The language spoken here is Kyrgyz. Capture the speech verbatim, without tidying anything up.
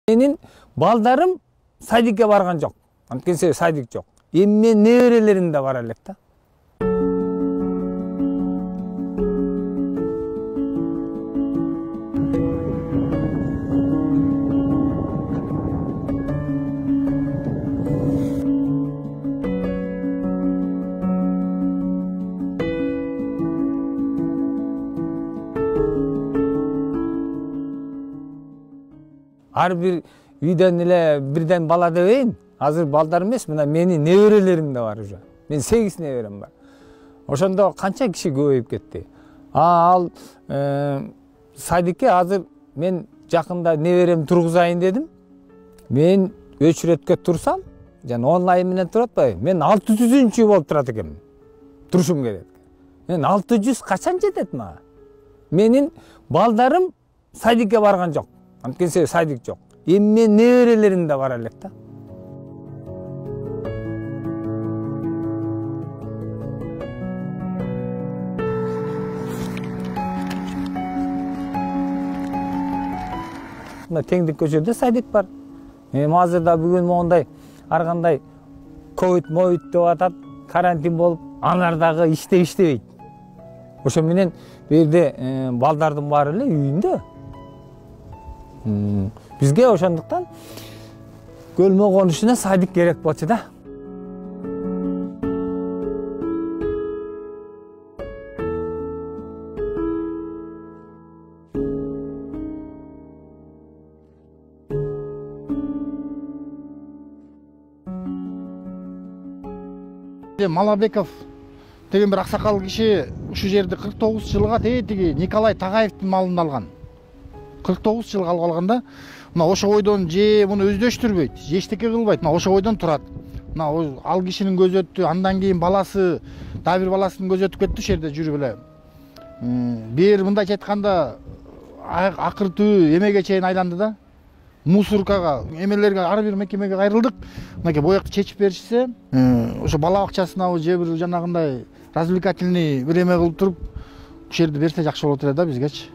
Менин балдарым садикке барган жок. Анткени себеби садик жок. Эми менин неберелерим да бара элек да. Ар бир үйдөн эле бирден бала дебейин. Азыр балдар эмес, мына менин неберелерим да бар уже. Мен сегиз неберем бар. Ошондо канча киши көбөйүп кетти. А ал садикке азыр мен жакында неберем тургузайын дедим. Мен өчүрөткө турсам, жана онлайн менен туруп атпайбы? Мен алты жүзүнчү болуп турат экенмин. Турушум керек. Мен алты жүз качан жетет мага? Менин балдарым садикке барган жок. Анткени себеби садик жок. Эми менин неберелерим да бара элек да. Мына Теңдик көчөдө садик бар. Эми азырда бүгүн моундай ар кандай ковид моют деп атат, карантин болуп, аналар дагы иштеп иштебейт. Ошо менен бу жерде балдардын баары эле үйүндө. Бизге ошондуктан көлмө конушуна садик керек болчу да. Малабеков деген бир аксакал киши ушул жерди кырк тогуз жылга тетиги Николай Тагаевдин малын алган. кырк тогуз жылга алып алганда, мына ошо бойдон же муну өздөштүрбөйт, же эчтеке кылбайт, мына ошо бойдон турат. Мына ал кишинин көзү өттү, андан кийин баласы, дагы бир баласынын көзү өтүп кетти, ошол жерде жүрүп эле. Бир мындайча айтканда акыр түбү эмеге чейин айланды да. Мусоркага, эмелерге ар бир мекемеге кайрылдык. Мынакей боякты чечип беришсе, ошо бала бакчасына же бир жанагындай развлекательный бир эме кылып туруп, ушул жерди берсе жакшы болот эле да бизгечи.